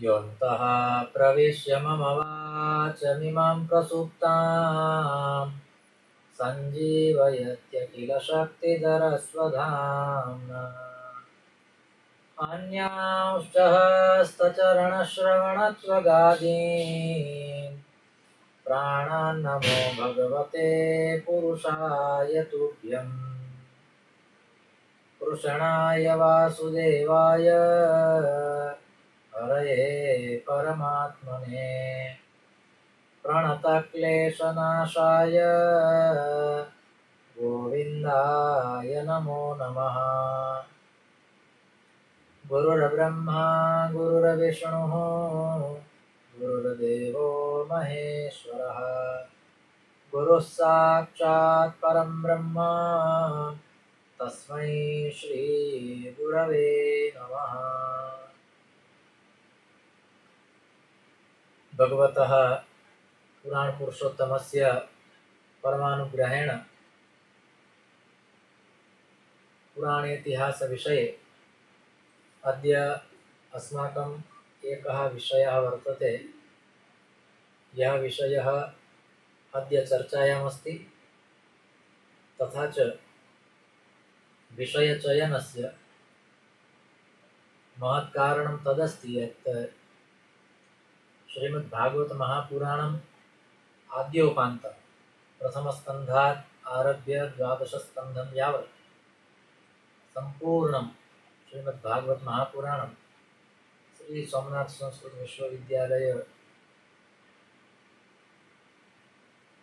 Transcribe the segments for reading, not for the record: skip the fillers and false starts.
योऽन्तः प्रविश्य मम वाचमिमां प्रसुप्तां सञ्जीवयत्यखिलशक्तिधरस्वधाम्ना अन्यांश्च हस्तचरणश्रवणत्वगादीन् प्राणान्नमो भगवते पुरुषाय तुभ्यम् कृष्णाय वासुदेवाय हरये परमात्मने प्रणतक्लेशनाशाय गोविन्दाय नमो नमः। गुरुर्ब्रह्मा गुरुर्विष्णुः गुरुर्देवो महेश्वरः गुरुः साक्षात् परं ब्रह्म तस्मै श्री गुरवे नमः। भगवतः पुराण पुरुषोत्तमस्य परमानुग्रहेण पुराणेतिहास विषये अद्य अस्माकम् एकः विषयः वर्तते। यः विषयः अद्य चर्चायामस्ति। तथा च विषयचयनस्य महत्कारणं तदस्ति यत् श्रीमद्भागवत महापुराणम् आद्योपान्तं प्रथमस्कन्धात् आरभ्य 12 स्कन्धं यावत् संपूर्णं श्रीमद्भागवत महापुराणं श्री सोमनाथ संस्कृत विश्वविद्यालय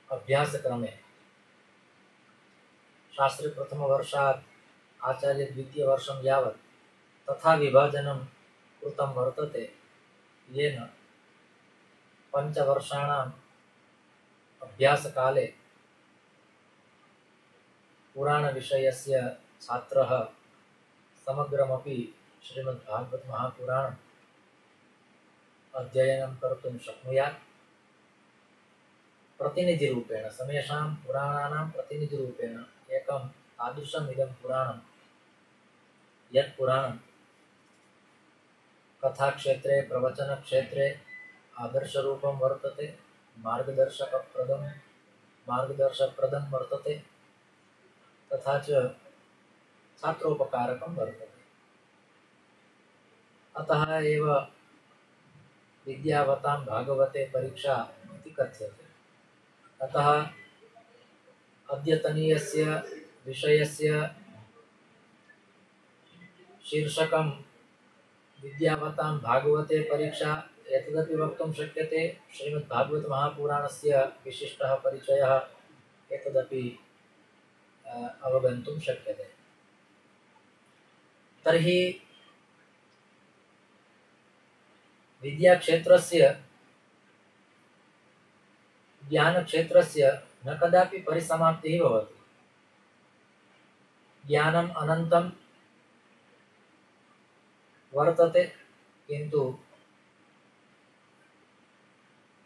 अभ्यासक्रमे शास्त्री प्रथमवर्षात् आचार्य द्वितीयवर्षं यावत् तथा विभाजनं कृतं वर्तते, येन 5 वर्षाणाम् अभ्यासकाले पुराणविषयस्य छात्रः समग्रमपि श्रीमद्भागवत महापुराणम् अध्ययनं कर्तुं शक्नुयात्। प्रतिनिधिरूपेण समेषां पुराणानां प्रतिनिधिरूपेण एकं तादृशम् इदं पुराणं यत् पुराणं कथाक्षेत्रे प्रवचनक्षेत्रे आदर्शरूपं वर्तते, मार्गदर्शकप्रदं वर्तते, तथा च छात्रोपकारकं वर्तते। अतः एव विद्यावतां भागवते परीक्षा इति कथ्यते। अतः अद्यतनीयस्य विषयस्य शीर्षकं विद्यावतां भागवते परीक्षा एतदपि वक्तुं शक्यते। श्रीमद्भागवत महापुराणस्य विशिष्टः परिचयः एतदपि अवगन्तुं शक्यते। तर्हि विद्याक्षेत्रस्य ज्ञानक्षेत्रस्य न कदापि परिसमाप्तिः भवति। ज्ञानम् अनन्तं वर्तते, किन्तु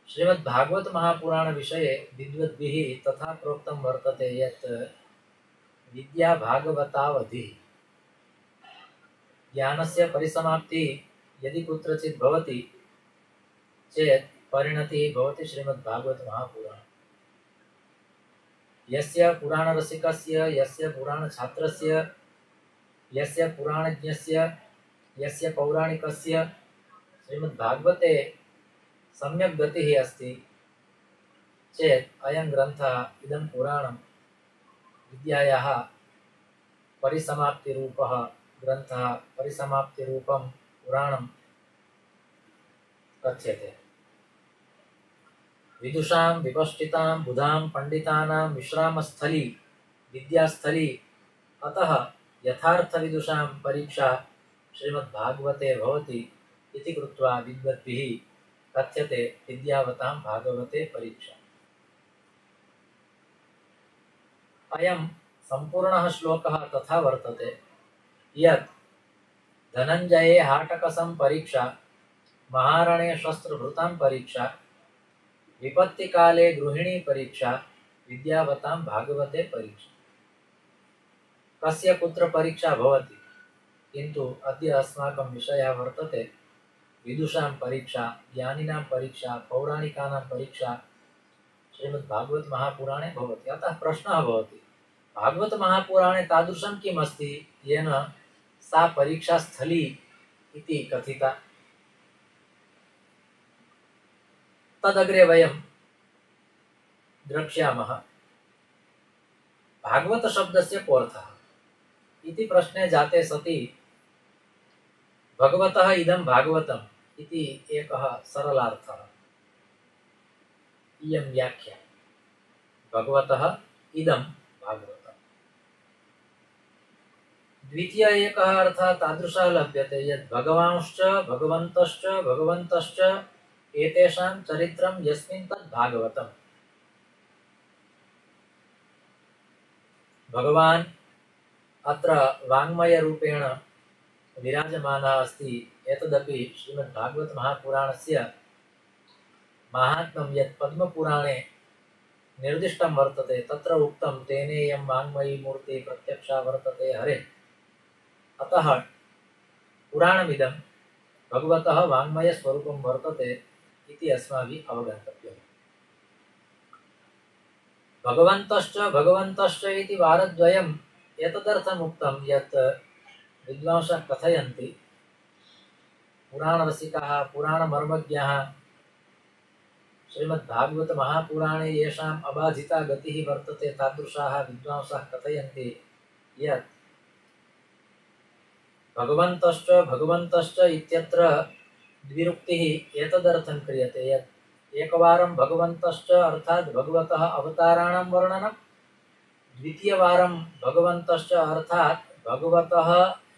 श्रीमद्भागवत महापुराण विषये विद्वद्भिः तथा प्रोक्तं वर्तते यत् विद्या भागवतावधिः। ज्ञानस्य परिसमाप्तिः यदि कुत्रचित् भवति चेत् परिणतिः भवति श्रीमद्भागवत महापुराण। यस्य पुराणरसिकस्य, यस्य पुराणछात्रस्य, यस्य पुराणज्ञस्य, यस्य पौराणिकस्य श्रीमद्भागवते सम्यक् गतिः अस्ति चेत् अयं ग्रन्थः, इदं पुराणं विद्यायाः परिसमाप्तिरूपः ग्रन्थः, परिसमाप्तिरूपं पुराणं कथ्यते। विदुषां विपश्चितां बुधां पंडितानां विश्रामस्थली विद्यास्थली। अतः यथार्थविदुषां परीक्षा श्रीमद्भागवते भवति इति कृत्वा विद्वद्भिः कथ्यते विद्यावतां भागवते परीक्षा। अयं सम्पूर्णः श्लोकः तथा वर्तते यत् धनञ्जये हाटकसं परीक्षा, महारणे शस्त्रभृतां परीक्षा, विपत्तिकाले गृहिणी परीक्षा, विद्यावतां भागवते परीक्षा। कस्य कुत्र परीक्षा भवति, किन्तु अद्य अस्माकं विषयः वर्तते विदुषां परीक्षा, ज्ञानिनां परीक्षा, पौराणिकानां परीक्षा श्रीमद्भागवत महापुराणे भवति। अतः प्रश्नः भवति, भागवत महापुराणे तादृशं किम् अस्ति येन सा परीक्षा स्थली इति कथिता। तदग्रे वयं द्रक्ष्यामः। भागवत शब्दस्य कोऽर्थः इति प्रश्ने जाते सति भगवतः इदं भागवतम् इति एकः सरलार्थः, इयं व्याख्या। भगवतः इदं भागवतम्। द्वितीय एकः अर्थः तादृशः लभ्यते यत् भगवांश्च भगवन्तश्च भगवन्तश्च एतेषां चरित्रं यस्मिन् तद् भागवतम्। भगवान् अत्र वाङ्मयरूपेण विराजमानः अस्ति। एतदपि श्रीमद्भागवत महापुराणस्य माहात्म्यं यत् पद्मपुराणे निर्दिष्टं वर्तते, तत्र उक्तं तेनेयं वाङ्मयी मूर्तिः प्रत्यक्षा वर्तते हरे। अतः पुराणमिदं भगवतः वाङ्मयस्वरूपं वर्तते इति अस्माभिः अवगन्तव्यम्। भगवन्तश्च भगवन्तश्च इति वारद्वयम् एतदर्थम् उक्तं यत् विद्वांसः कथयन्ति, पुराणरसिकाः पुराणमर्मज्ञाः श्रीमद्भागवत महापुराणे येषाम् अबाधिता गतिः वर्तते तादृशाः विद्वांसः कथयन्ति यत् भगवन्तश्च भगवन्तश्च इत्यत्र द्विरुक्तिः एतदर्थं क्रियते यत् एकवारं भगवन्तश्च अर्थात् भगवतः अवताराणां वर्णनं, द्वितीयवारं भगवन्तश्च अर्थात् भगवतः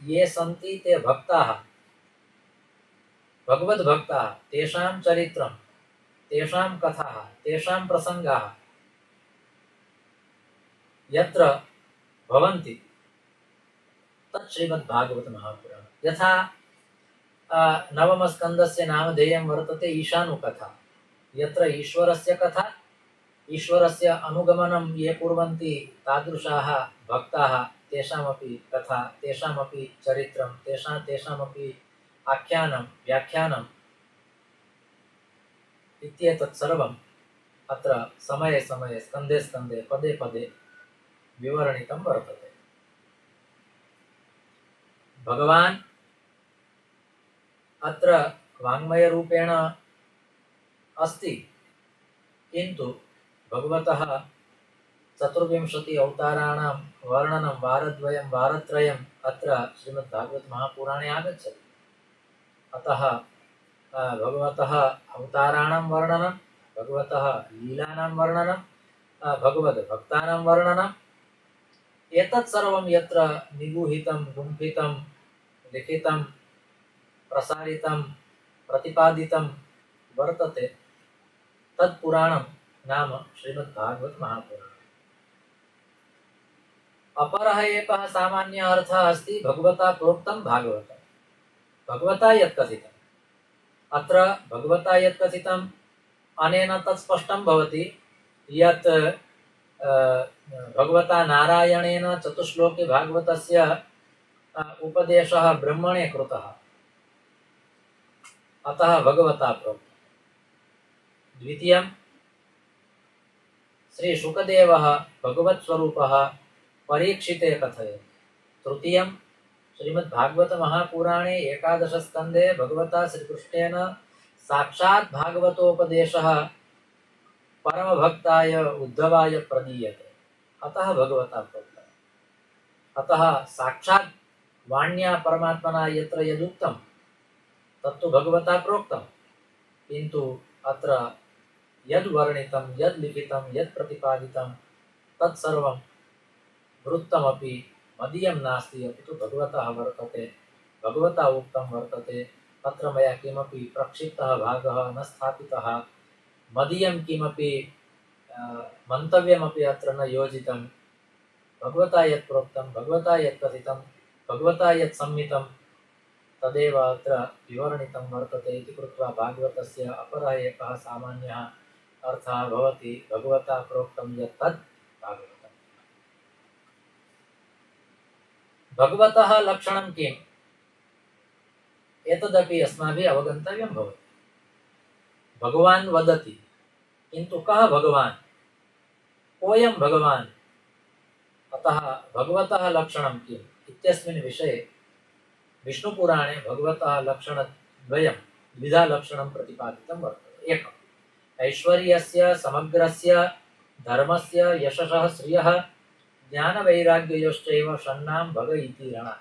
ये सन्ति ते भक्ताः, भगवद्भक्ताः, तेषां चरित्रं, तेषां कथाः, तेषां प्रसङ्गाः यत्र भवन्ति तत् श्रीमद्भागवत महापुराणं। यथा नवमस्कन्धस्य नामधेयं वर्तते ईशानुकथा, यत्र ईश्वरस्य कथा, ईश्वरस्य अनुगमनं ये कुर्वन्ति तादृशाः भक्ताः, तेषामपि कथा, तेषामपि चरित्रं, तेषामपि आख्यानं व्याख्यानम् इत्येतत् सर्वम् अत्र समये समये स्कन्धे स्कन्धे पदे पदे विवरणितं वर्तते। भगवान् अत्र वाङ्मयरूपेण अस्ति, किन्तु भगवतः 24 अवताराणां वर्णनं वारद्वयं वारत्रयम् अत्र श्रीमद्भागवत महापुराणे आगच्छति। अतः भगवतः अवताराणां वर्णनं, भगवतः लीलानां वर्णनं, भगवद्भक्तानां वर्णनम्, एतत् सर्वं यत्र निगूहितं, गुम्फितं, लिखितं, प्रसारितं, प्रतिपादितं वर्तते तत्पुराणं नाम श्रीमद्भागवत महापुराणम्। अपरः एकः सामान्यः अर्थः अस्ति भगवता प्रोक्तं भागवतं। भगवता यत् कथितम्, अत्र भगवता यत् कथितम् अनेन तत् स्पष्टं भवति यत् भगवता नारायणेन चतुश्लोके भागवतस्य उपदेशः ब्रह्मणे कृतः, अतः भगवता प्रोक्तम्। द्वितीयं, श्री शुकदेवः भगवत्स्वरूपः परीक्षिते कथयति। तृतीयं, श्रीमद्भागवत महापुराणे 11 स्कन्धे भगवता श्रीकृष्णेन साक्षात् भागवतोपदेशः परमभक्ताय उद्धवाय प्रदीयते, अतः भगवता प्रोक्तम्। अतः साक्षात् वाण्या परमात्मना यत्र यदुक्तं तत्तु भगवता प्रोक्तं, किन्तु अत्र यद् वर्णितं, यद् लिखितं, यद् प्रतिपादितं तत्सर्वं वृत्तमपि मदीयं नास्ति, अपि तु भगवतः वर्तते, भगवता उक्तं वर्तते। तत्र मया किमपि प्रक्षिप्तः भागः न स्थापितः, मदीयं किमपि मन्तव्यमपि अत्र न योजितं। भगवता यत् प्रोक्तं, भगवता यत् कथितं, भगवता यत् सम्मितं तदेव अत्र विवरणितं वर्तते इति कृत्वा भागवतस्य अपरः एकः सामान्यः अर्थः भवति भगवता प्रोक्तं यत् तत् भागवतम्। भगवतः लक्षणं किम्? एतदपि अस्माभिः अवगन्तव्यं भवति। भगवान् वदति, किन्तु कः भगवान्, कोऽयं भगवान्, अतः भगवतः लक्षणं किम् इत्यस्मिन् विषये विष्णुपुराणे भगवतः लक्षणद्वयं द्विधा लक्षणं प्रतिपादितं वर्तते। एकम् ऐश्वर्यस्य, समग्रस्य, धर्मस्य, यशसः, श्रियः, ज्ञानवैराग्ययोश्चैव षण्णां भग इति रणा।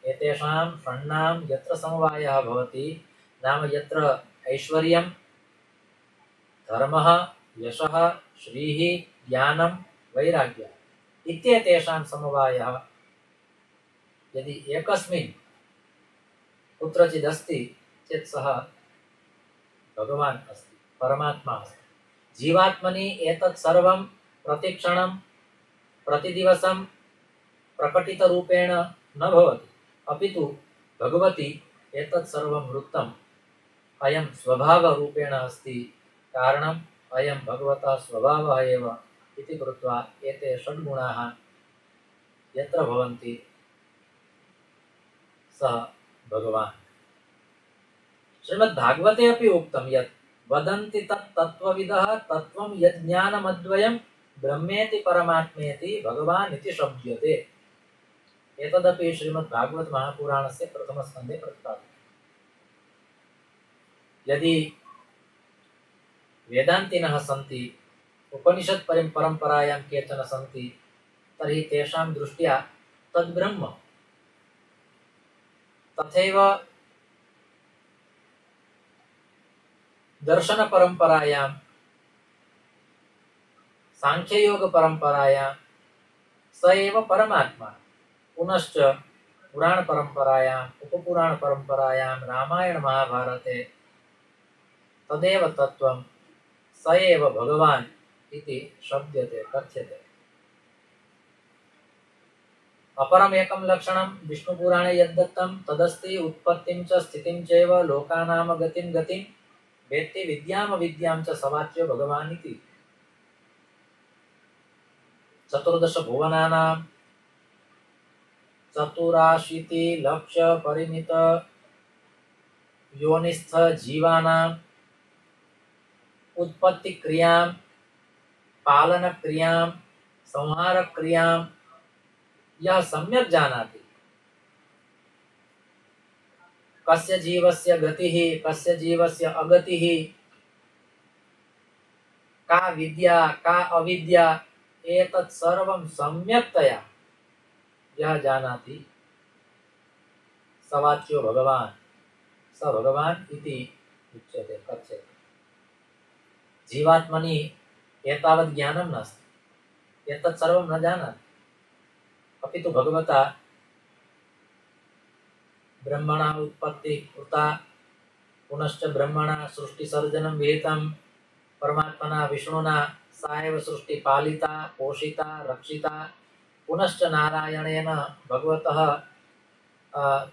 एतेषां षण्णां यत्र समवायः भवति, नाम यत्र ऐश्वर्यं, धर्मः, यशः, श्रीः, ज्ञानं, वैराग्यः इत्येतेषां समवायः यदि एकस्मिन् कुत्रचिदस्ति चेत् सः भगवान् अस्ति, परमात्मा अस्ति। जीवात्मनि एतत् सर्वं प्रतिक्षणं प्रतिदिवसं प्रकटितरूपेण न भवति, अपितु भगवति एतत् सर्वं वृत्तम् अयं स्वभावरूपेण अस्ति। कारणम् अयं भगवतः स्वभावः एव इति कृत्वा एते षड्गुणाः यत्र भवन्ति सः भगवान्। श्रीमद्भागवते अपि उक्तं यत् वदन्ति तत् तत्त्वविदः तत्त्वं यज्ञानमद्वयं ब्रह्मेति परमात्मेति भगवान् इति शब्द्यते। एतदपि श्रीमद्भागवत महापुराणस्य प्रथमस्कन्धे प्रतिपादितम्। यदि वेदान्तिनः सन्ति, उपनिषत् परम्परायां केचन सन्ति, तर्हि तेषां दृष्ट्या तद्ब्रह्म। तथैव दर्शनपरम्परायां, साङ्ख्ययोगपरम्परायां स एव परमात्मा। पुनश्च पुराणपरम्परायाम्, उपपुराणपरम्परायां, रामायणमहाभारते तदेव तत्त्वं स एव भगवान् इति शब्द्यते, कथ्यते। अपरमेकं लक्षणं विष्णुपुराणे यद्दत्तं तदस्ति उत्पत्तिं च स्थितिं चैव लोकानां गतिं वेत्ति विद्यामविद्यां च सवाच्यो भगवान् इति। 14 भुवनानां 84 लक्ष परिमित योनिस्थ जीवानां उत्पत्ति क्रियां, पालन क्रियां, संहार क्रियां यह सम्यक जानाति, कस्य जीवस्य गतिः, कस्य जीवस्य अगतिः, का विद्या, का अविद्या, एतत् सर्वं सम्यक्तया यह जानाति सवाच्यो भगवान्, स भगवान् इति उच्यते, कथ्यते। जीवात्मनि एतावत् ज्ञानं नास्ति, एतत् सर्वं न जानाति, अपितु भगवता ब्रह्मणा उत्पत्ति कृता, पुनश्च ब्रह्मणा सृष्टिसर्जनं विहितं, परमात्मना विष्णुना सा एव सृष्टि पालिता, पोषिता, रक्षिता, पुनश्च नारायणेन भगवतः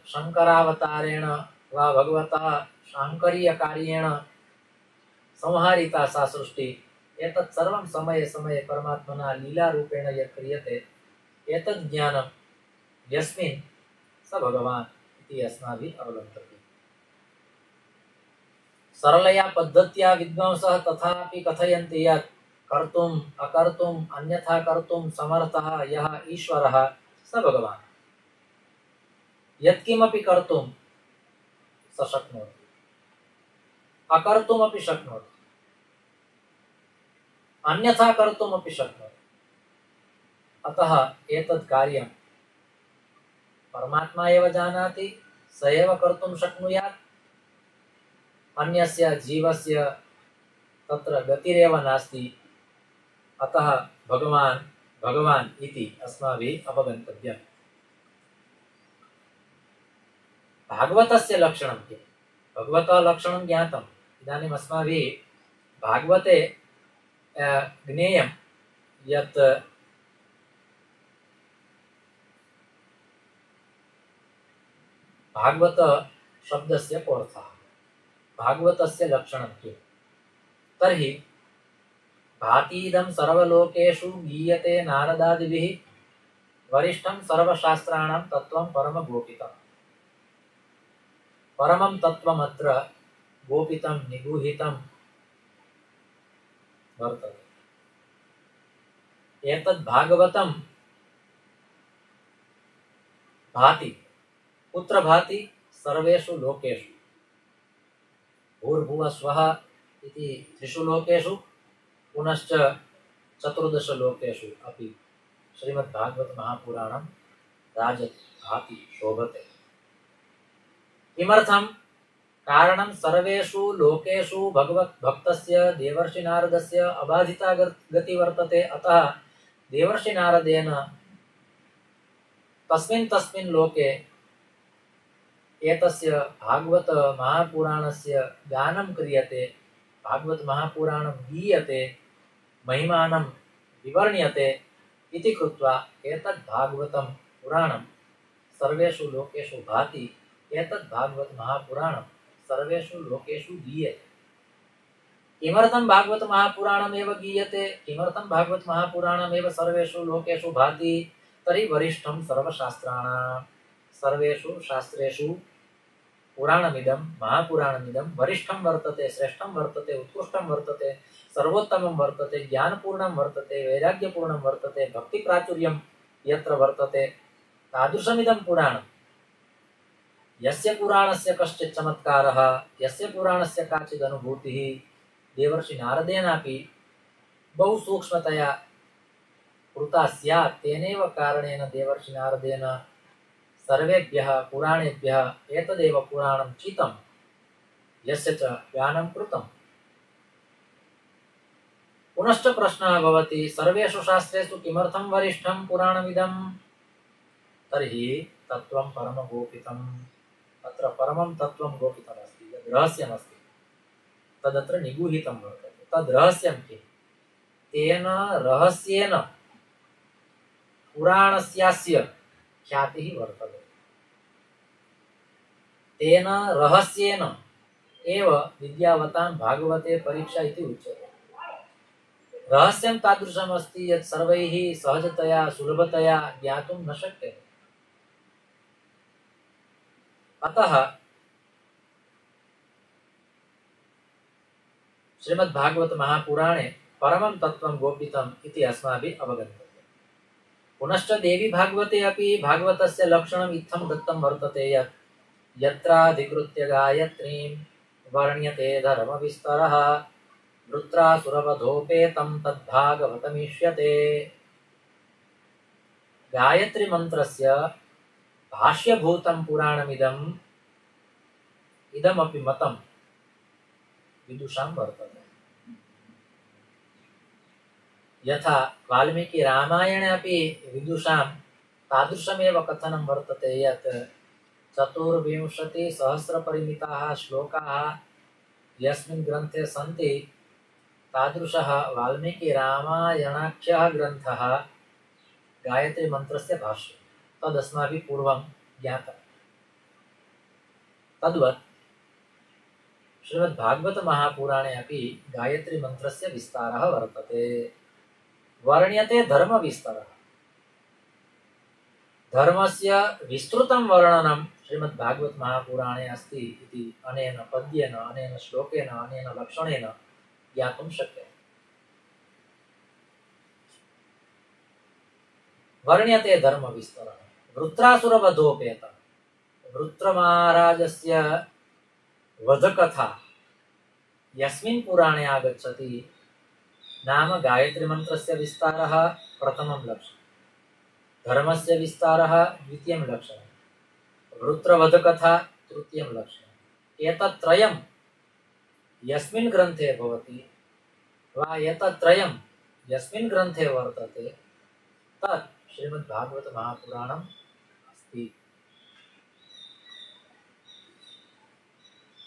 शंकरावतारेण वा भगवतः शाङ्करीयकार्येण संहारिता सा सृष्टि। एतत् सर्वं समये समये परमात्मना लीलारूपेण यत् क्रियते, एतत् ज्ञानं यस्मिन् स भगवान् इति अस्माभिः अवगन्तव्यम्। सरलया पद्धत्या विद्वांसः तथापि कथयन्ति यत् कर्तुम् अकर्तुम् अन्यथा कर्तुं समर्थः यः ईश्वरः स भगवान्। यत्किमपि कर्तुं स शक्नोति, अकर्तुमपि शक्नोति, अन्यथा कर्तुमपि शक्नोति। अतः एतत् कार्यं परमात्मा एव जानाति, स एव कर्तुं शक्नुयात्, अन्यस्य जीवस्य तत्र गतिरेव नास्ति। अतः भगवान् भगवान् इति अस्माभिः अवगन्तव्यम्। भागवतस्य लक्षणं किम्? भगवतः लक्षणं ज्ञातम्। इदानीम् अस्माभिः भागवते ज्ञेयं यत् भागवत शब्दस्य कोऽर्थः, भागवतस्य लक्षणं किम्? तर्हि भातीदं सर्वलोकेषु गीयते नारदादिभिः वरिष्ठं सर्वशास्त्राणां तत्त्वं परमगोपितम्। परमं तत्त्वमत्र गोपितं निगूहितं वर्तते। एतद् भागवतं भाति। कुत्र भाति? सर्वेषु लोकेषु। भूर्भुवः स्वः इति 3 लोकेषु, पुनश्च 14 लोकेषु अपि श्रीमद्भागवत महापुराणं राजति, भाति, शोभते। किमर्थं? कारणं सर्वेषु लोकेषु भगवद्भक्तस्य देवर्षिनारदस्य अबाधिता गति वर्तते। अतः देवर्षिनारदेन तस्मिन् तस्मिन् लोके एतस्य भागवत महापुराणस्य गानं क्रियते, भागवत महापुराणं गीयते, महिमानं विवर्ण्यते इति कृत्वा एतद् भागवतं पुराणं सर्वेषु लोकेषु भाति। एतद् भागवत महापुराणं सर्वेषु लोकेषु गीयते। किमर्थं भागवत महापुराणमेव गीयते? किमर्थं भागवत महापुराणमेव सर्वेषु लोकेषु भाति? तर्हि वरिष्ठं सर्वशास्त्राणां, सर्वेषु शास्त्रेषु पुराणमिदं महापुराणमिदं वरिष्ठं वर्तते, श्रेष्ठं वर्तते, उत्कृष्टं वर्तते, सर्वोत्तमं वर्तते, ज्ञानपूर्णं वर्तते, वैराग्यपूर्णं वर्तते, भक्तिप्राचुर्यं यत्र वर्तते तादृशमिदं पुराणं। यस्य पुराणस्य कश्चित् चमत्कारः, यस्य पुराणस्य काचित् अनुभूतिः देवर्षि नारदेनापि बहु सूक्ष्मतया कृता स्यात्, तेनैव कारणेन देवर्षि नारदेन सर्वेभ्यः पुराणेभ्यः एतदेव पुराणं चितं, यस्य च गानं कृतं। पुनश्च प्रश्नः भवति, सर्वेषु शास्त्रेषु किमर्थं वरिष्ठं पुराणमिदं? तर्हि तत्त्वं परमगोपितम्। अत्र परमं तत्त्वं गोपितमस्ति, यद् रहस्यमस्ति तदत्र निगूहितं वर्तते। तद् रहस्यं किम्? तेन रहस्येन पुराणस्यास्य ख्यातिः वर्तते। तेन रहस्येन एव विद्यावतां भागवते परीक्षा इति उच्यते। रहस्यं तादृशमस्ति यत् सर्वैः सहजतया सुलभतया ज्ञातुं न शक्यते। अतः श्रीमद्भागवत महापुराणे परमं तत्त्वं गोपितम् इति अस्माभिः अवगन्तव्यम्। पुनश्च देवी भागवते अपि भागवतस्य लक्षणम् इत्थं दत्तं वर्तते यत् यत्राधिकृत्य गायत्रीं वर्ण्यते धर्मविस्तरः वृत्रासुरवधोपेतं तद्भागवतमीष्यते। गायत्री मंत्रस्य भाष्यभूतं पुराणमिदम् इदमपि मतं विदुषां वर्तते। यथा वाल्मीकि रामायणे अपि विदुषां तादृशमेव कथनं वर्तते यत् 24,000 श्लोकाः यस्मिन् ग्रन्थे सन्ति तादृशः वाल्मीकि रामायणाख्यः ग्रन्थः गायत्री मंत्रस्य भाष्यं। तदस्माभिः पूर्वं ज्ञातं। तद्वत् श्रीमद्भागवत महापुराणे अपि गायत्री मंत्रस्य विस्तारः वर्तते। वर्ण्यते धर्म विस्तारः। धर्मस्य विस्तृतं वर्णनं श्रीमद्भागवत महापुराणे अस्ति इति अनेन पद्येन, अनेन श्लोकेन, अनेन लक्षणेन ज्ञातुं शक्यते। वर्ण्यते धर्म विस्तरः। वृत्रासुरवधोपेतं, वृत्रमहाराजस्य वधकथा यस्मिन् पुराणे आगच्छति नाम गायत्री मंत्रस्य विस्तारः प्रथमं लक्षणं, धर्मस्य विस्तारः द्वितीयं लक्षणं, वृत्रवधकथा तृतीयं लक्षणम्। एतत्त्रयं यस्मिन् ग्रन्थे भवति वा एतत्त्रयं यस्मिन् ग्रन्थे वर्तते तत् श्रीमद्भागवत महापुराणम् अस्ति।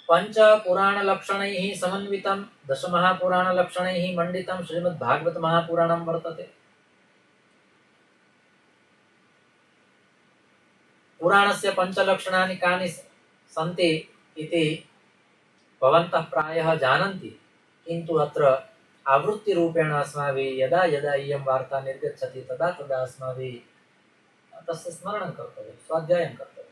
पंच पुराण लक्षणैः समन्वितं 10 महापुराण लक्षणैः मंडितं श्रीमद्भागवत महापुराणं वर्तते। पुराणस्य पंचलक्षणानि कानि सन्ति इति भवन्तः प्रायः जानन्ति, किन्तु अत्र आवृत्तिरूपेण अस्माभिः यदा यदा इयं वार्ता निर्गच्छति तदा तदा अस्माभिः तस्य स्मरणं कर्तव्यं, स्वाध्यायं कर्तव्यम्।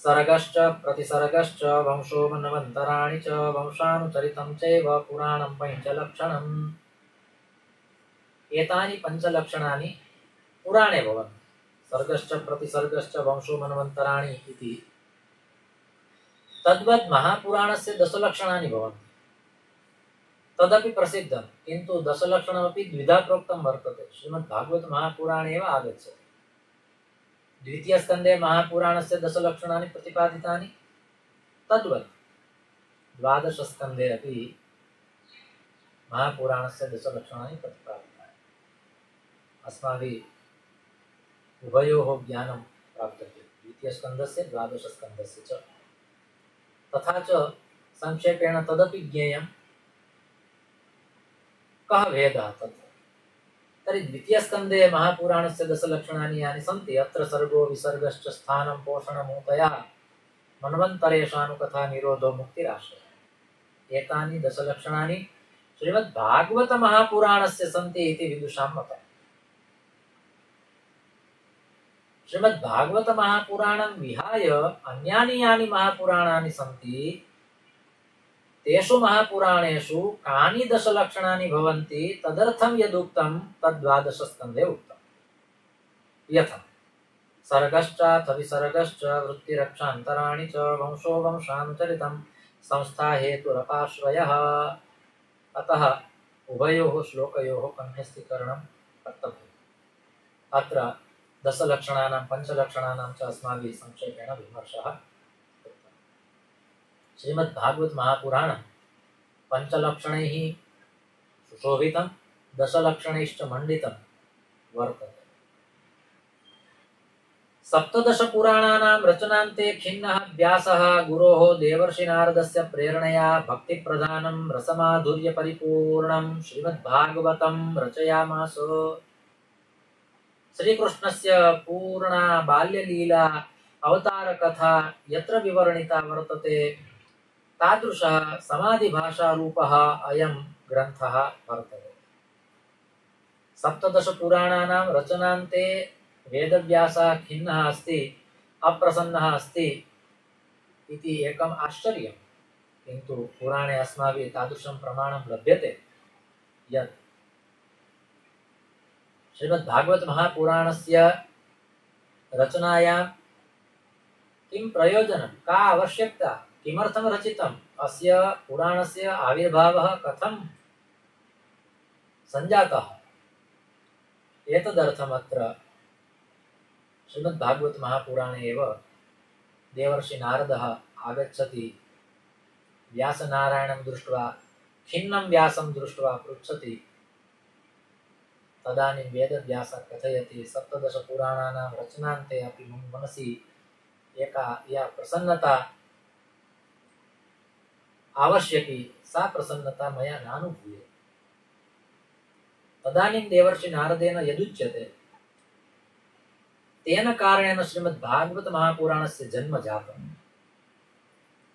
सर्गश्च प्रतिसर्गश्च वंशो मनवन्तराणि च वंशानुचरितं चैव पुराणं पञ्चलक्षणम्। एतानि पञ्चलक्षणानि पुराणे भवन्ति। सर्गश्च प्रतिसर्गश्च वंशो मनवन्तराणि इति तद्वत् महापुराणस्य दशलक्षणानि भवन्ति। तदपि प्रसिद्धं, किन्तु दशलक्षणमपि द्विधा प्रोक्तं वर्तते। श्रीमद्भागवत महापुराणे एव आगच्छति। द्वितीयस्कन्धे महापुराणस्य दशलक्षणानि प्रतिपादितानि, तद्वत् द्वादशस्कन्धे अपि महापुराणस्य दशलक्षणानि प्रतिपादितानि। अस्माभिः उभयोः ज्ञानं प्राप्यते, द्वितीयस्कन्धस्य द्वादशस्कन्धस्य च। तथा च संक्षेपेण तदपि ज्ञेयं कः भेदः तत्। तर्हि द्वितीयस्कन्धे महापुराणस्य दशलक्षणानि यानि सन्ति, अत्र सर्गो विसर्गश्च स्थानं पोषणमूतयः मन्वन्तरेषानुकथा निरोधो मुक्तिराश्रयः। एतानि दशलक्षणानि श्रीमद्भागवतमहापुराणस्य सन्ति इति विदुषां मतम्। श्रीमद्भागवतमहापुराणं विहाय अन्यानि यानि महापुराणानि सन्ति, तेषु महापुराणेषु कानि दशलक्षणानि भवन्ति तदर्थं यदुक्तं तद्द्वादशस्कन्धे उक्तम्। यथा सर्गश्चाथ विसर्गश्च वृत्तिरक्षान्तराणि च वंशो वंशानुचरितं संस्थाहेतुरपाश्रयः। अतः उभयोः श्लोकयोः कण्ठस्थीकरणं कर्तव्यम्। अत्र दशलक्षणानां पञ्चलक्षणानां च अस्माभिः संक्षेपेण विमर्शः कृतः। श्रीमद्भागवत महापुराणं पञ्चलक्षणैः सुशोभितं, दशलक्षणैश्च मण्डितं वर्तते। सप्तदशपुराणानां रचनान्ते खिन्नः व्यासः गुरोः देवर्षिनारदस्य प्रेरणया भक्तिप्रधानं रसमाधुर्यपरिपूर्णं श्रीमद्भागवतं रचयामास। श्रीकृष्णस्य पूर्णा बाल्यलीला अवतारकथा यत्र विवर्णिता वर्तते, तादृशः समाधिभाषारूपः अयं ग्रन्थः वर्तते। सप्तदशपुराणानां रचनान्ते वेदव्यासः खिन्नः अस्ति, अप्रसन्नः अस्ति इति एकम् आश्चर्यं। किन्तु पुराणे अस्माभिः तादृशं प्रमाणं लभ्यते यत् श्रीमद्भागवत महापुराणस्य रचनायां किं प्रयोजनं, का आवश्यकता, किमर्थं रचितम्, अस्य पुराणस्य आविर्भावः कथं सञ्जातः, एतदर्थमत्र श्रीमद्भागवत महापुराणे एव देवर्षि नारदः आगच्छति, व्यासनारायणं दृष्ट्वा खिन्नं व्यासं दृष्ट्वा पृच्छति। तदानीं वेदव्यासः कथयति, सप्तदशपुराणानां रचनान्ते अपि मम मनसि एका या प्रसन्नता आवश्यकी, सा प्रसन्नता मया नानुभूयते। तदानीं देवर्षि नारदेन यदुच्यते, तेन कारणेन श्रीमद्भागवत महापुराणस्य जन्म जातम्।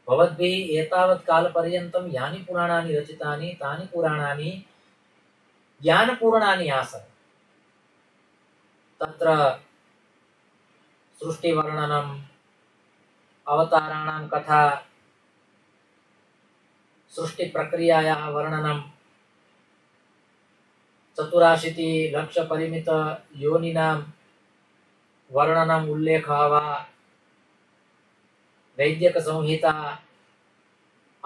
भवद्भिः एतावत् कालपर्यन्तं यानि पुराणानि रचितानि, तानि पुराणानि ज्ञानपूर्णानि आसन्। तत्र सृष्टिवर्णनम्, अवताराणां कथा, सृष्टिप्रक्रियायाः वर्णनं, 84,00,000,000 वर्णनम्, उल्लेखः वा, वैद्यकसंहिता,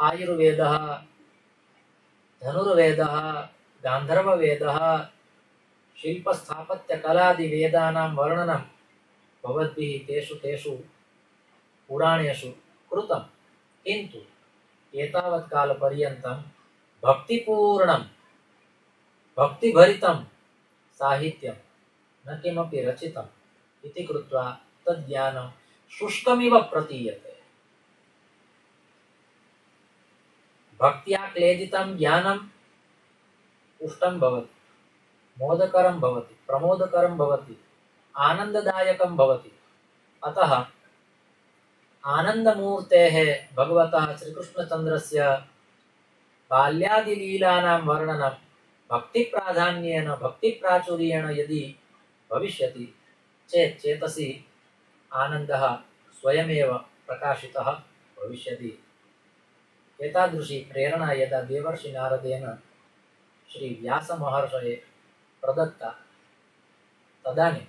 आयुर्वेदः, धनुर्वेदः, गान्धर्ववेदः, शिल्पस्थापत्यकलादिवेदानां वर्णनं भवद्भिः तेषु तेषु पुराणेषु कृतं। किन्तु एतावत् कालपर्यन्तं भक्तिपूर्णं, भक्तिभरितं साहित्यं न किमपि रचितम् इति कृत्वा तज्ज्ञानं शुष्कमिव प्रतीयते। भक्त्या क्लेदितं ज्ञानं पुष्टं भवति, मोदकरं भवति, प्रमोदकरं भवति, आनन्ददायकं भवति। अतः आनन्दमूर्तेः भगवतः श्रीकृष्णचन्द्रस्य बाल्यादिलीलानां वर्णनं भक्तिप्राधान्येन, भक्तिप्राचुर्येण यदि भविष्यति चेत् चेतसि आनन्दः स्वयमेव प्रकाशितः भविष्यति। एतादृशी प्रेरणा यदा देवर्षि नारदेन श्री व्यासमहर्षये प्रदत्ता तदानीं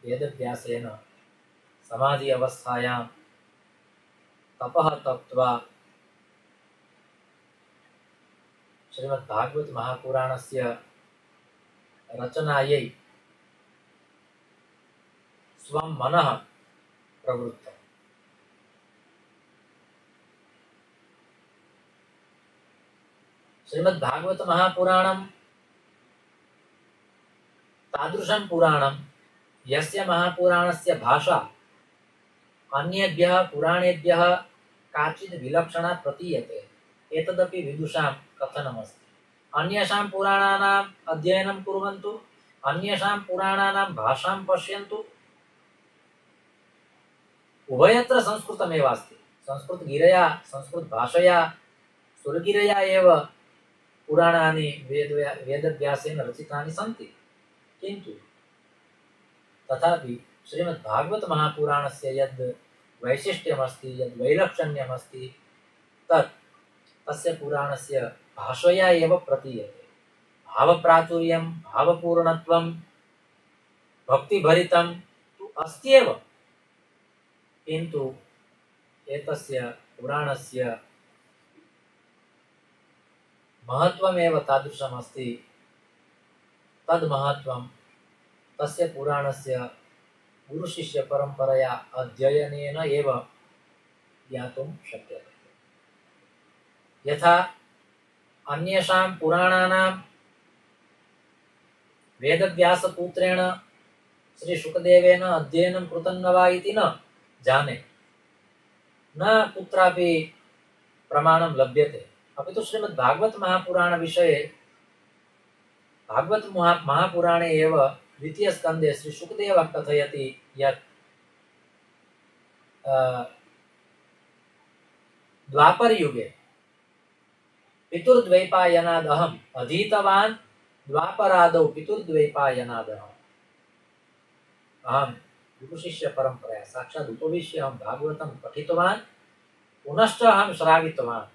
वेदव्यासेन समाधि अवस्थायां तपः तप्त्वा श्रीमद्भागवत महापुराणस्य रचनायै स्वं मनः प्रवृत्तम्। श्रीमद्भागवत महापुराणं तादृशं पुराणं यस्य महापुराणस्य भाषा अन्येभ्यः पुराणेभ्यः काचित् विलक्षणा प्रतीयते। एतदपि विदुषां कथनमस्ति। अन्येषां पुराणानाम् अध्ययनं कुर्वन्तु, अन्येषां पुराणानां भाषां पश्यन्तु। उभयत्र संस्कृतमेव अस्ति। संस्कृतगिरया संस्कृतभाषया सुरगिरया एव पुराणानि वेदव्यासेन रचितानि सन्ति। किन्तु तथापि श्रीमद्भागवत महापुराणस्य यद् वैशिष्ट्यमस्ति, यद् वैलक्षण्यमस्ति तत् तस्य पुराणस्य भाषया एव प्रतीयते। भावप्राचुर्यं, भावपूर्णत्वं, भक्तिभरितं तु अस्ति एव, किन्तु एतस्य पुराणस्य महत्त्वमेव तादृशमस्ति। तद् महत्त्वं तस्य पुराणस्य गुरुशिष्यपरम्परया अध्ययनेन एव ज्ञातुं शक्यते। यथा अन्येषां पुराणानां वेदव्यासपुत्रेण श्रीशुकदेवेन अध्ययनं कृतं न वा इति न जाने, न कुत्रापि प्रमाणं लभ्यते। अपि तु श्रीमद्भागवत महापुराणविषये भागवत महापुराणे एव द्वितीयस्कन्धे श्रीशुकदेवः कथयति यत् द्वापरयुगे पितुर्द्वैपायनादहम् अधीतवान्, द्वापरादौ पितुर्द्वैपायनादहम्। अहं गुरुशिष्यपरम्परया साक्षात् उपविश्य अहं भागवतं पठितवान्, पुनश्च अहं श्रावितवान्।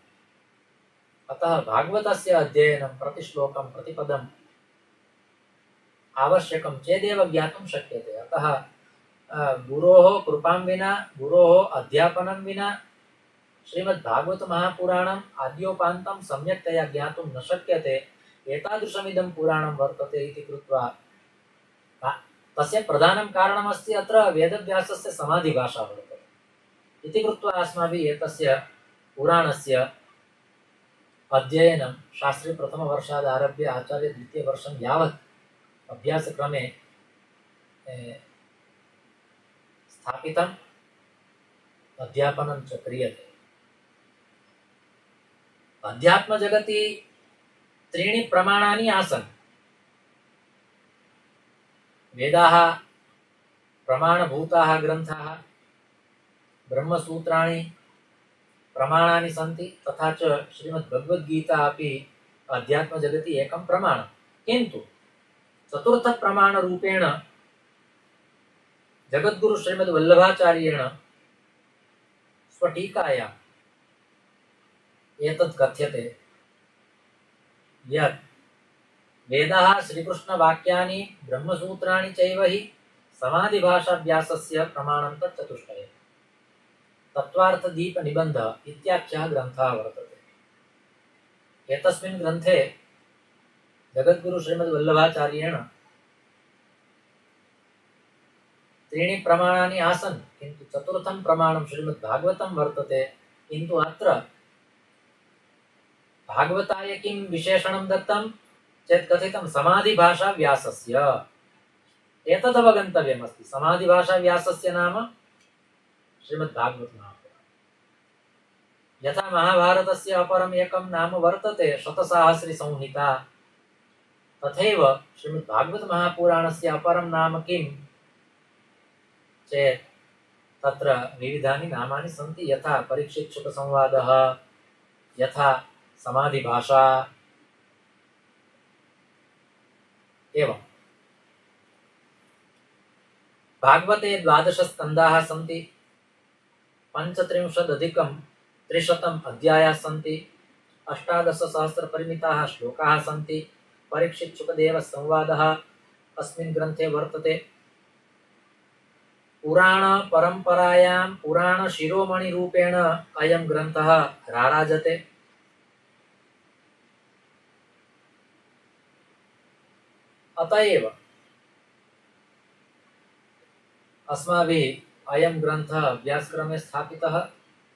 अतः भागवतस्य अध्ययनं प्रतिश्लोकं प्रतिपदम् आवश्यकं चेदेव ज्ञातुं शक्यते। अतः गुरोः कृपां विना, गुरोः अध्यापनं विना श्रीमद्भागवत महापुराणम् आद्योपान्तं सम्यक्तया ज्ञातुं न शक्यते। एतादृशमिदं पुराणं वर्तते इति कृत्वा तस्य प्रधानं कारणमस्ति अत्र वेदव्यासस्य समाधिभाषा वर्तते इति कृत्वा अस्माभिः एतस्य पुराणस्य अध्ययनं शास्त्री प्रथमवर्षादारभ्य आचार्य द्वितीयवर्षं यावत् अभ्यासक्रमे स्थापितम्, अध्यापनं च क्रियते। अध्यात्मजगति त्रीणि प्रमाणानि आसन्। वेदाः प्रमाणभूताः ग्रन्थाः, ब्रह्मसूत्राणि प्रमाणानि सन्ति, तथा च श्रीमद्भगवद्गीता अपि अध्यात्मजगति एकं प्रमाणं। किन्तु चतुर्थप्रमाणरूपेण जगद्गुरु श्रीमद्वल्लभाचार्येण स्वटीकायाम् एतत् कथ्यते यत् वेदाः श्रीकृष्णवाक्यानि ब्रह्मसूत्राणि चैव हि समाधिभाषाभ्यासस्य प्रमाणं तत् चतुष्टयम्। तत्त्वार्थदीपनिबन्धः इत्याख्यः ग्रन्थः वर्तते। एतस्मिन् ग्रन्थे जगद्गुरु श्रीमद्वल्लभाचार्येण त्रीणि प्रमाणानि आसन्, किन्तु चतुर्थं प्रमाणं श्रीमद्भागवतं वर्तते। किन्तु अत्र भागवताय किं विशेषणं दत्तं चेत् कथितं समाधिभाषा व्यासस्य। एतदवगन्तव्यमस्ति। समाधिभाषा व्यासस्य नाम श्रीमद्भागवत महापुराणं। यथा महाभारतस्य अपरम् एकं नाम वर्तते शतसाहस्री संहिता, तथैव श्रीमद्भागवत महापुराणस्य अपरं नाम किं चेत् तत्र विविधानि नामानि सन्ति। यथा परीक्षितशुकसंवादः, यथा समाधिभाषा। एवं भागवते 12 स्कन्धाः सन्ति। पंचत्रिंशदधिकं 300 अध्यायाः सन्ति। 18,000 श्लोकाः सन्ति। परीक्षित सुखदेव संवादः अस्मिन् ग्रन्थे वर्तते। पुराण परंपरायां पुराण शिरोमणि रूपेण अयं ग्रन्थः राराजते। अतएव अस्माभिः अयं ग्रन्थः अभ्यासक्रमे स्थापितः।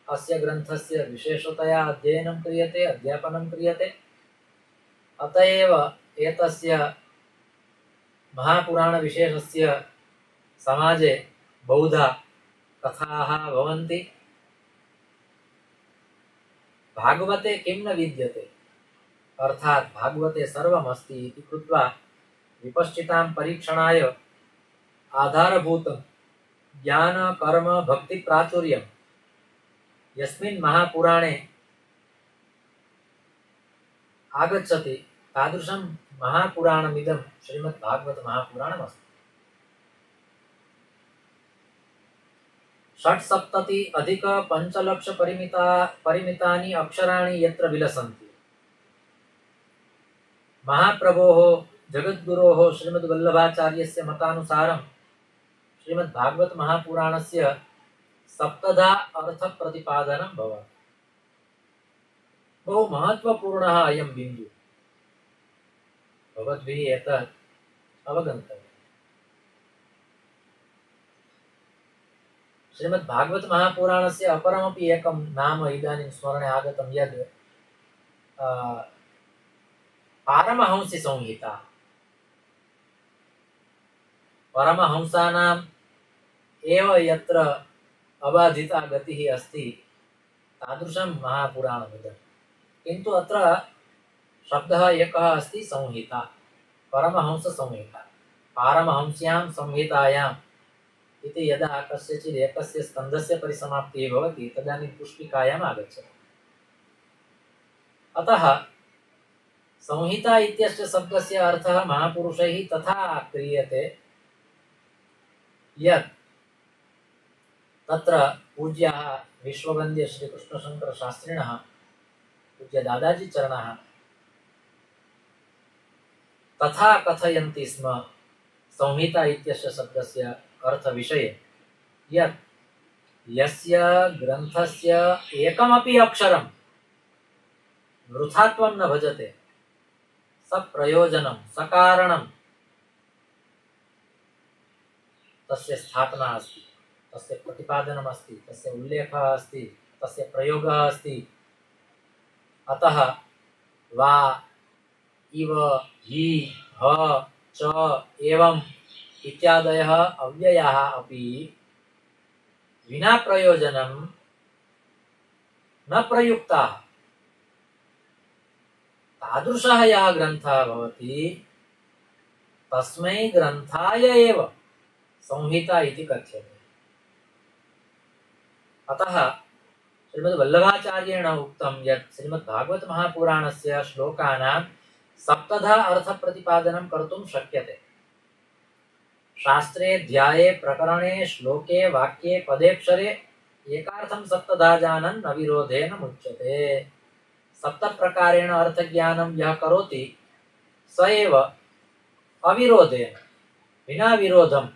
अस्य ग्रन्थस्य विशेषतया अध्ययनं क्रियते, अध्यापनं क्रियते। अतएव एतस्य महापुराणविशेषस्य समाजे बहुधा कथाः भवन्ति। भागवते किं न विद्यते, अर्थात् भागवते सर्वमस्ति इति कृत्वा विपश्चितां परीक्षणाय आधारभूतं ज्ञान कर्म भक्ति प्राचुर्यं यस्मिन् महापुराणे आगच्छति तादृशं महापुराणमिदं श्रीमद्भागवत महापुराणमस्ति। 670 परिमितानि अक्षराणि यत्र विलसन्ति। महाप्रभोः जगद्गुरोः श्रीमद्वल्लभाचार्यस्य मतानुसारं श्रीमद्भागवत महापुराणस्य 7धा अर्थप्रतिपादनं भवति। बहु महत्वपूर्णः अयं बिन्दुः, भवद्भिः एतत् अवगन्तव्यम्। श्रीमद्भागवत महापुराणस्य अपरमपि एकं नाम इदानीं स्मरणे आगतं, यद् पारमहंसी संहिता। परमहंसानाम् एव यत्र अबाधिता गतिः अस्ति तादृशं महापुराणमिदं। किन्तु अत्र शब्दः एकः अस्ति, संहिता, परमहंससंहिता। पारमहंस्यां संहितायाम् इति यदा कस्यचित् एकस्य स्कन्धस्य परिसमाप्तिः भवति तदानीं पुष्पिकायाम् आगच्छति। अतः संहिता इत्यस्य शब्दस्य अर्थः महापुरुषैः तथा क्रियते यत् तत्र पूज्याः विश्ववन्द्य श्रीकृष्णशङ्करशास्त्रिणः पूज्य दादाजी चरणः तथा कथयन्ति स्म संहिता इत्यस्य शब्दस्य अर्थविषये, यत् यस्य ग्रन्थस्य एकमपि अक्षरं वृथात्वं न भजते, सप्रयोजनं सकारणं तस्य स्थापना अस्ति, तस्य प्रतिपादनम् अस्ति, तस्य उल्लेखः अस्ति, तस्य प्रयोगः अस्ति। अतः वा इव हि ह च एवं इत्यादयः अव्ययाः अपि विना प्रयोजनं न प्रयुक्ताः। तादृशः यः ग्रन्थः भवति तस्मै ग्रन्थाय एव संहिता इति कथ्यते। अतः श्रीमद्वल्लभाचार्येण उक्तं यत् श्रीमद्भागवत महापुराणस्य श्लोकानां 7धा अर्थप्रतिपादनं कर्तुं शक्यते। शास्त्रे ध्याये प्रकरणे श्लोके वाक्ये पदेक्षरे एकार्थं 7धा जानन् न विरोधेन मुच्यते। 7 प्रकारेण अर्थज्ञानं यः करोति स एव अविरोधेन विना विरोधं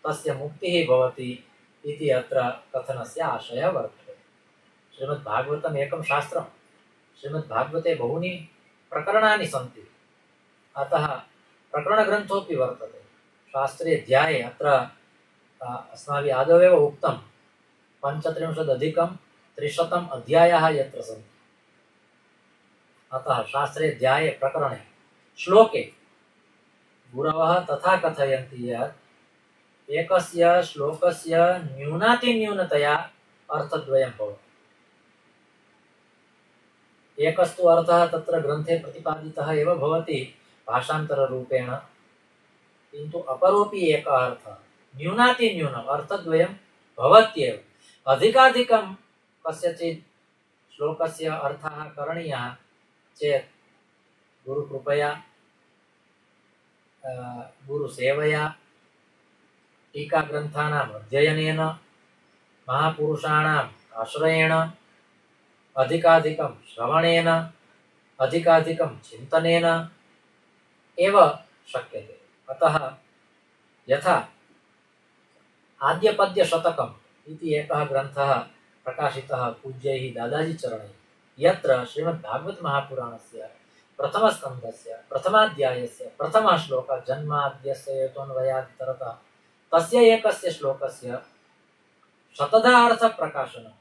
तस्य मुक्तिः भवति इति अत्र कथनस्य आशयः वर्तते। श्रीमद्भागवतम् एकं शास्त्रं, श्रीमद्भागवते बहूनि प्रकरणानि सन्ति, अतः प्रकरणग्रन्थोऽपि वर्तते। शास्त्रे ध्याये अत्र अस्माभिः आदौ उक्तं 35,300 अध्यायाः यत्र सन्ति। अतः शास्त्रे ध्याये प्रकरणे श्लोके गुरवः तथा कथयन्ति यत् एकस्य श्लोकस्य न्यूनातिन्यूनतया अर्थद्वयं भवति। एकस्तु अर्थः तत्र ग्रन्थे प्रतिपादितः एव भवति भाषान्तररूपेण, किन्तु अपरोपि एकः अर्थः न्यूनातिन्यूनम् अर्थद्वयं भवत्येव। अधिकाधिकं कस्यचित् श्लोकस्य अर्थः करणीयः चेत् गुरुकृपया गुरुसेवया टीकाग्रन्थानाम् अध्ययनेन महापुरुषाणां आश्रयेण, अधिकाधिकं श्रवणेन, अधिकाधिकं चिन्तनेन एव शक्यते। अतः यथा आद्यपद्यशतकम् इति एकः ग्रन्थः प्रकाशितः पूज्यैः दादाजी चरणैः, यत्र श्रीमद्भागवत महापुराणस्य प्रथमस्कन्धस्य प्रथमाध्यायस्य प्रथमः श्लोकः जन्माद्यस्य हेतोऽन्वयादितरतः तस्य एकस्य श्लोकस्य शतधा अर्थप्रकाशनं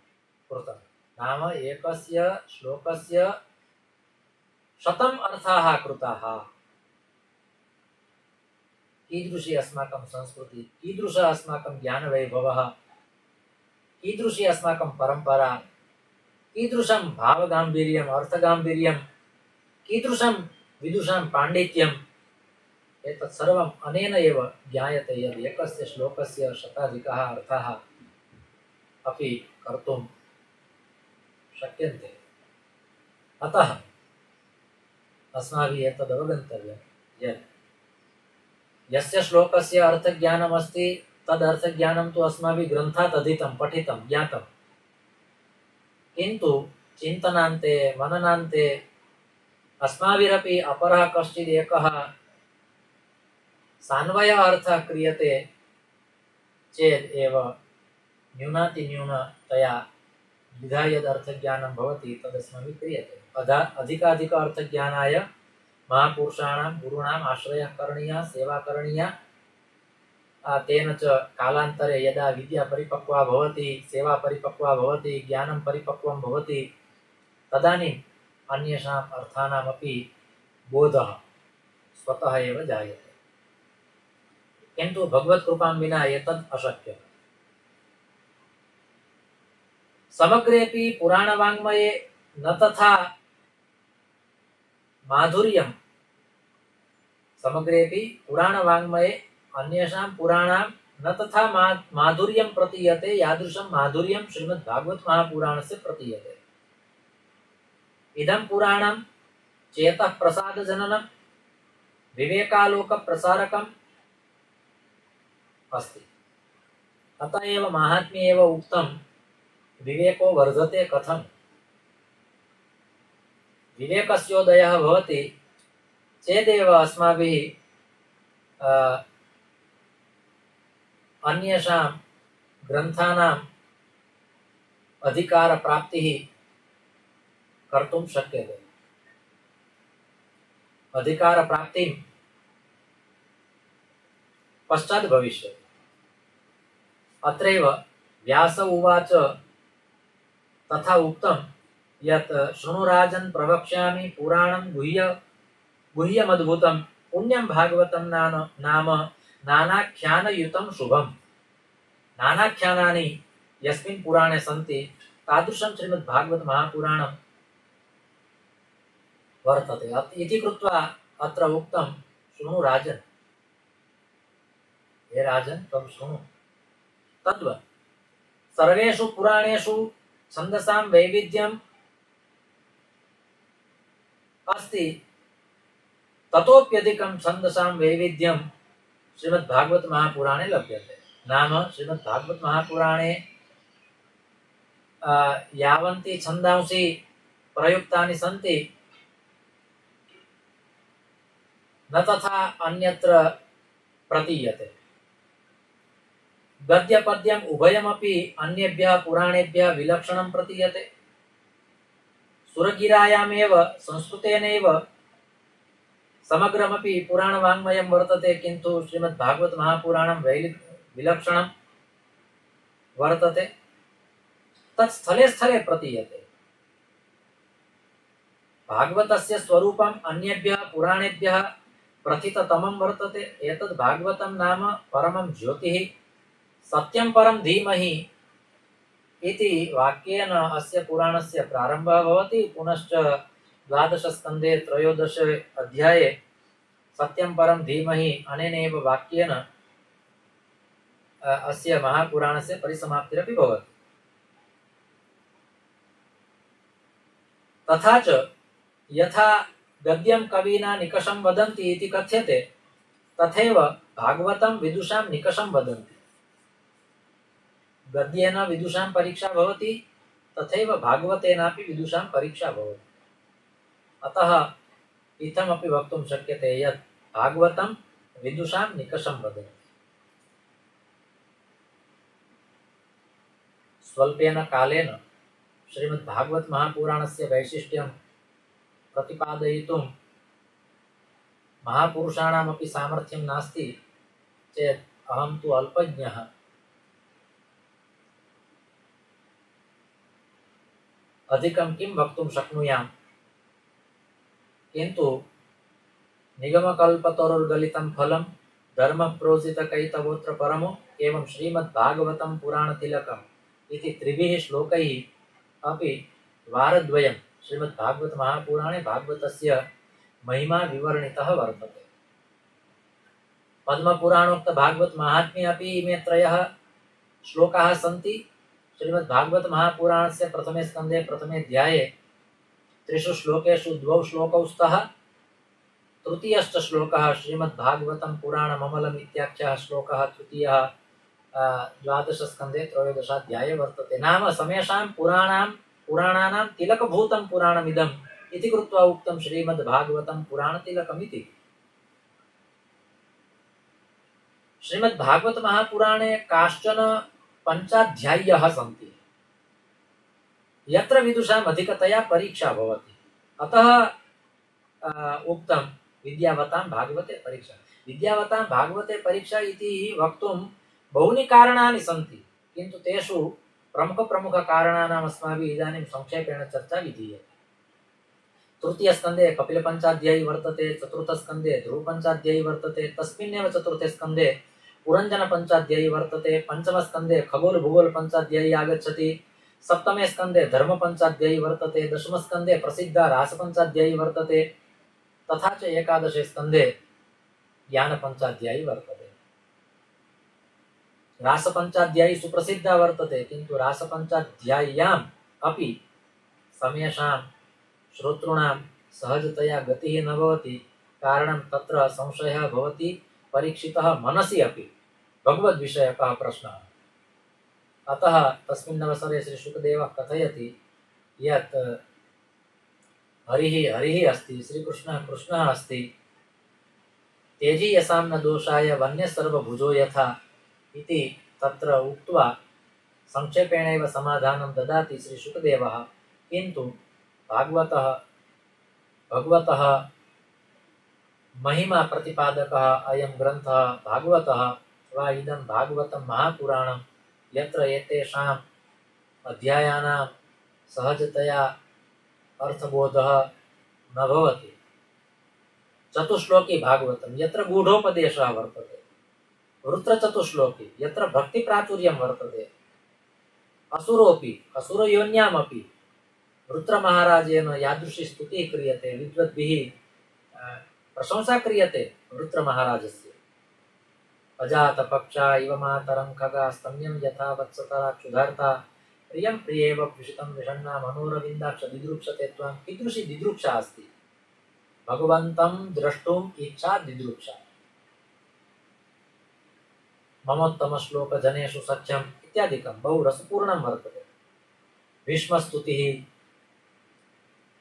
कृतं। नाम एकस्य श्लोकस्य शतम् अर्थाः कृताः। कीदृशी अस्माकं संस्कृतिः, कीदृशः अस्माकं ज्ञानवैभवः, कीदृशी अस्माकं परम्परा, कीदृशं भावगाम्भीर्यम्, अर्थगाम्भीर्यं, कीदृशं विदुषां पाण्डित्यम्, एतत् सर्वम् अनेन एव ज्ञायते यद् एकस्य श्लोकस्य शताधिकाः अर्थाः अपि कर्तुं शक्यन्ते। अतः अस्माभिः एतद् अवगन्तव्यं यत् यस्य श्लोकस्य अर्थज्ञानम् अस्ति तद् अर्थज्ञानं तु अस्माभिः ग्रन्थात् अधीतं, पठितं, ज्ञातं, किन्तु चिन्तनान्ते मननान्ते अस्माभिरपि अपरः कश्चित् एकः सान्वय अर्थः क्रियते चेत् एव न्यूनातिन्यूनतया द्विधा यद् अर्थज्ञानं भवति तदस्माभिः क्रियते। अधिकाधिक अर्थज्ञानाय महापुरुषाणां गुरूणाम् आश्रयः करणीयः, सेवा करणीया। तेन च कालान्तरे यदा विद्या परिपक्वा भवति, सेवा परिपक्वा भवति, ज्ञानं परिपक्वं भवति, तदानीम् अन्येषाम् अर्थानामपि बोधः स्वतः एव जायते। किन्तु भगवत्कृपां विना एतद् अशक्यम्। समग्रेपि पुराणवाङ्मये न तथा माधुर्यं, समग्रेपि पुराणवाङ्मये अन्येषां पुराणां न तथा माधुर्यं प्रतीयते यादृशं माधुर्यं श्रीमद्भागवत महापुराणस्य प्रतीयते। इदं पुराणं चेतः प्रसादजननं विवेकालोकप्रसारकम् अस्ति। अतः एव माहात्म्ये एव उक्तं विवेको वर्धते कथम्। विवेकस्योदयः भवति चेदेव अस्माभिः अन्येषां ग्रन्थानाम् अधिकारप्राप्तिः कर्तुं शक्यते। अधिकारप्राप्तिं पश्चात् भविष्यति। अत्रैव व्यास उवाच तथा उक्तं यत् शृणुराजन् प्रवक्ष्यामि पुराणं गुह्यमद्भुतं पुण्यं भागवतं नाम नानाख्यानयुतं शुभम्। नानाख्यानानि यस्मिन् पुराणे सन्ति तादृशं श्रीमद्भागवत महापुराणं वर्तते। इति कृत्वा अत्र उक्तं शृणु राजन्, हे राजन् त्वं शृणु। तद्वत् सर्वेषु पुराणेषु छन्दसां वैविध्यम् अस्ति, ततोप्यधिकं छन्दसां वैविध्यं श्रीमद्भागवत महापुराणे लभ्यते। नाम श्रीमद्भागवत महापुराणे यावन्ति छन्दांसि प्रयुक्तानि सन्ति न तथा अन्यत्र प्रतीयते। गद्यपद्यम् उभयमपि अन्येभ्यः पुराणेभ्यः विलक्षणं प्रतीयते। सुरगिरायामेव संस्कृतेनैव समग्रमपि पुराणवाङ्मयं वर्तते, किन्तु श्रीमद्भागवत महापुराणं विलक्षणं वर्तते। तत् स्थले स्थले प्रतीयते। भागवतस्य स्वरूपम् अन्येभ्यः पुराणेभ्यः प्रथिततमं वर्तते। एतद् भागवतं नाम परमं ज्योतिः, सत्यं परं धीमहि इति वाक्येन अस्य पुराणस्य प्रारम्भः भवति। पुनश्च 12 स्कन्धे 13 अध्याये सत्यं परं धीमहि अनेनैव वाक्येन अस्य महापुराणस्य परिसमाप्तिरपि भवति। तथा च यथा गद्यं कविना निकषं वदन्ति इति कथ्यते, तथैव भागवतं विदुषां निकषं वदन्ति। गद्येन विदुषां परीक्षा भवति, तथैव भागवतेनापि विदुषां परीक्षा भवति। अतः इत्थमपि वक्तुं शक्यते यत् भागवतं विदुषां निकषं वदति। स्वल्पेन कालेन श्रीमद्भागवत महापुराणस्य वैशिष्ट्यं प्रतिपादयितुं महापुरुषाणामपि सामर्थ्यं नास्ति चेत् अहं तु अल्पज्ञः। अधिकं किं वक्तुं शक्नुयाम्, किन्तु निगमकल्पतरुर्गलितं फलं धर्मप्रोजितकैतवोऽत्र परमो एवं श्रीमद्भागवतं पुराणतिलकम् इति त्रिभिः श्लोकैः अपि वारद्वयं श्रीमद्भागवत महापुराणे भागवतस्य महिमा विवर्णितः वर्तते। पद्मपुराणोक्त भागवत महात्म्ये अपि इमे त्रयः श्लोकाः सन्ति। श्रीमद्भागवत महापुराणस्य प्रथमे स्कन्धे प्रथमे अध्याये त्रिषु श्लोकेषु द्वौ श्लोकौ स्तः। तृतीयश्च श्लोकः श्रीमद्भागवतं पुराणममलम् इत्याख्यः श्लोकः तृतीयः द्वादशस्कन्धे त्रयोदशाध्याये वर्तते। नाम समेषां पुराणानां तिलकभूतं पुराणमिदम् इति कृत्वा उक्तं श्रीमद्भागवतं पुराणतिलकमिति। श्रीमद्भागवत महापुराणे काश्चन पञ्चाध्याय्यः सन्ति यत्र विदुषाम् अधिकतया परीक्षा भवति। अतः उक्तं विद्यावतां भागवते परीक्षा। विद्यावतां भागवते परीक्षा इति वक्तुं बहूनि कारणानि सन्ति, किन्तु तेषु प्रमुखकारणानाम् अस्माभिः इदानीं संक्षेपेण चर्चा विधीयते। तृतीयस्कन्धे कपिलपञ्चाध्यायी वर्तते, चतुर्थस्कन्धे ध्रुवपञ्चाध्यायी वर्तते, तस्मिन्नेव चतुर्थे स्कन्धे पुरञ्जनपञ्चाध्यायी वर्तते, पंचमस्कन्धे खगोलभूगोलपञ्चाध्यायी आगच्छति, सप्तमे स्कन्धे धर्मपञ्चाध्यायी वर्तते, दशमस्कन्धे प्रसिद्धा रासपञ्चाध्यायी वर्तते, तथा च एकादशे स्कन्धे ज्ञानपञ्चाध्यायी वर्तते। रासपञ्चाध्यायी सुप्रसिद्धा वर्तते, किन्तु रासपञ्चाध्याय्याम् अपि समेषां श्रोतॄणां सहजतया गतिः न भवति। कारणं तत्र संशयः भवति, परीक्षितः मनसि अपि भगवद्विषयकः प्रश्नः। अतः तस्मिन् अवसरे श्री शुकदेवः कथयति यत् हरिः अस्ति, श्रीकृष्णः कृष्णः अस्ति, तेजी यसां न दोषाय वन्यः सर्वभुजो यथा इति तत्र उक्त्वा संक्षेपेणैव समाधानं ददाति श्री शुकदेवः। किन्तु भगवतः महिमा प्रतिपादकः अयं ग्रन्थः भागवतः वा इदं भागवतं महापुराणं यत्र एतेषाम् अध्यायानां सहजतया अर्थबोधः न भवति। चतुश्लोकी भागवतं यत्र गूढोपदेशः वर्तते, वृत्रचतुश्लोकी यत्र भक्तिप्राचुर्यं वर्तते, असुरयोन्यामपि वृत्रमहाराजेन यादृशी स्तुतिः क्रियते, विद्वद्भिः प्रशंसा क्रियते वृत्रमहाराजस्य। अजातपक्षा इव मातरं खगा स्तम्यं यथा वत्सतरा क्षुधार्ता प्रियं प्रियेव विषितं विषण्णा मनोरविन्दाक्ष दिदृक्षते त्वां। कीदृशी दिदृक्षा अस्ति, भगवन्तं द्रष्टुम् इच्छा दिदृक्षा। ममोत्तमश्लोक जनेषु सख्यम् इत्यादिकं बहु रसपूर्णं वर्तते। भीष्मस्तुतिः,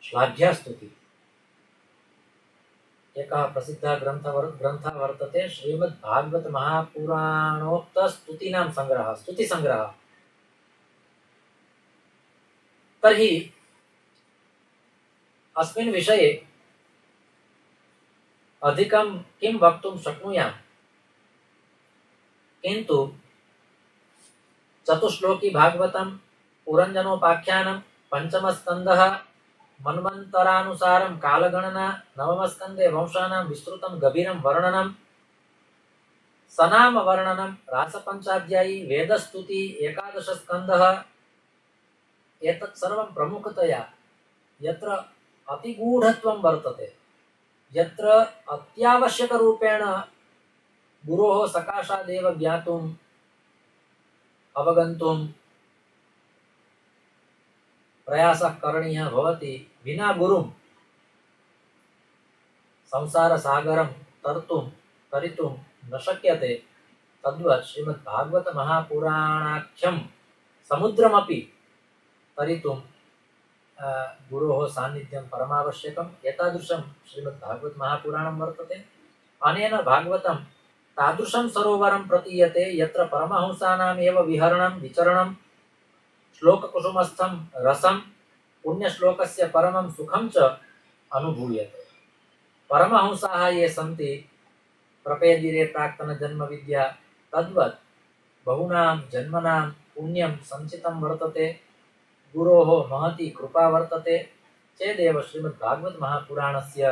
श्लाघ्यस्तुतिः। एकः प्रसिद्धः ग्रन्थः वर्तते श्रीमद्भागवत महापुराणोक्त स्तुतीनां संग्रहः, स्तुतिसंग्रहः। तर्हि अस्मिन् विषये अधिकं किं वक्तुं शक्नुयाम्, किन्तु चतुश्लोकी भागवतं, पुरञ्जनोपाख्यानं, पंचमस्कन्धः मन्वन्तरानुसारं कालगणना, नवमस्कन्धे वंशानां विस्तृतं गभीरं वर्णनं, सनाम वर्णनं, रासपञ्चाध्यायी, वेदस्तुति, एकादशस्कन्धः, एतत् सर्वं प्रमुखतया यत्र अतिगूढत्वं वर्तते, यत्र अत्यावश्यकरूपेण गुरोः सकाशादेव ज्ञातुम् अवगन्तुं प्रयासः करणीयः भवति। विना गुरुं संसारसागरं तरितुं न शक्यते। तद्वत् श्रीमद्भागवत महापुराणाख्यं समुद्रमपि तरितुं गुरोः सान्निध्यं परमावश्यकम्। एतादृशं श्रीमद्भागवतमहापुराणं वर्तते। अनेन भागवतं तादृशं सरोवरं प्रतीयते यत्र परमहंसानाम् एव विहरणं विचरणं श्लोककुसुमस्थं रसं पुण्यश्लोकस्य परमं सुखं च अनुभूयते। परमहंसाः ये सन्ति प्रपेदिरे प्राक्तनजन्मविद्या तद्वत् बहूनां जन्मनां पुण्यं सञ्चितं वर्तते। गुरोः महती कृपा वर्तते चेदेव श्रीमद्भागवतमहापुराणस्य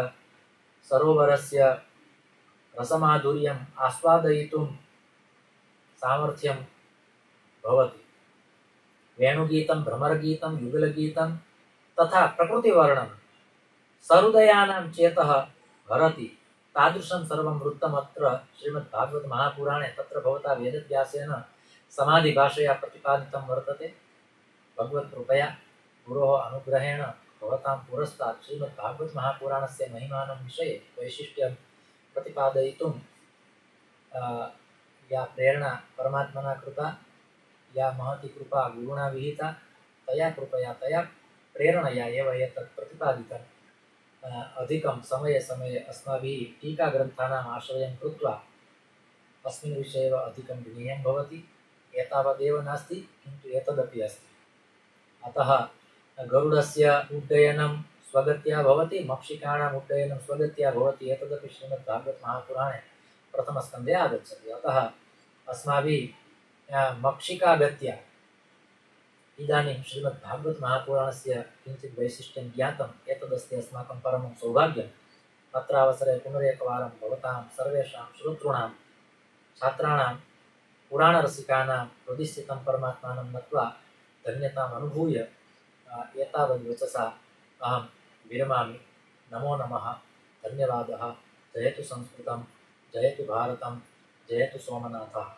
सरोवरस्य रसमाधुर्यम् आस्वादयितुं सामर्थ्यं भवति। वेणुगीतं, भ्रमरगीतं, युगलगीतं तथा प्रकृतिवर्णनं सहृदयानां चेतः हरति। तादृशं सर्वं वृत्तमत्र श्रीमद्भागवतमहापुराणे तत्र भवता वेदव्यासेन समाधिभाषया प्रतिपादितं वर्तते। भगवत्कृपया गुरोः अनुग्रहेण भवतां पुरस्तात् श्रीमद्भागवतमहापुराणस्य महिमानं विषये वैशिष्ट्यं प्रतिपादयितुं या प्रेरणा परमात्मना कृता, या महती कृपा गुरुणा विहिता, तया कृपया तया प्रेरणया एव एतत् प्रतिपादितम्। अधिकं समये समये अस्माभिः टीकाग्रन्थानाम् आश्रयं कृत्वा अस्मिन् विषये एव अधिकं ज्ञेयं भवति। एतावदेव नास्ति, किन्तु एतदपि अस्ति। अतः गरुडस्य उड्डयनं स्वगत्या भवति, मक्षिकाणाम् उड्डयनं स्वगत्या भवति। एतदपि श्रीमद्भागवतमहापुराणे प्रथमस्कन्धे आगच्छति। अतः अस्माभिः मक्षिकागत्या इदानीं श्रीमद्भागवतमहापुराणस्य किञ्चित् वैशिष्ट्यं ज्ञातम्। एतदस्ति अस्माकं परमं सौभाग्यम्। अत्र अवसरे पुनरेकवारं भवतां सर्वेषां श्रोतॄणां छात्राणां पुराणरसिकानां हृदि स्थितं परमात्मानं नत्वा धन्यताम् अनुभूय एतावद्वचसा अहं विरमामि। नमो नमः, धन्यवादः। जयतु संस्कृतं, जयतु भारतं, जयतु सोमनाथः।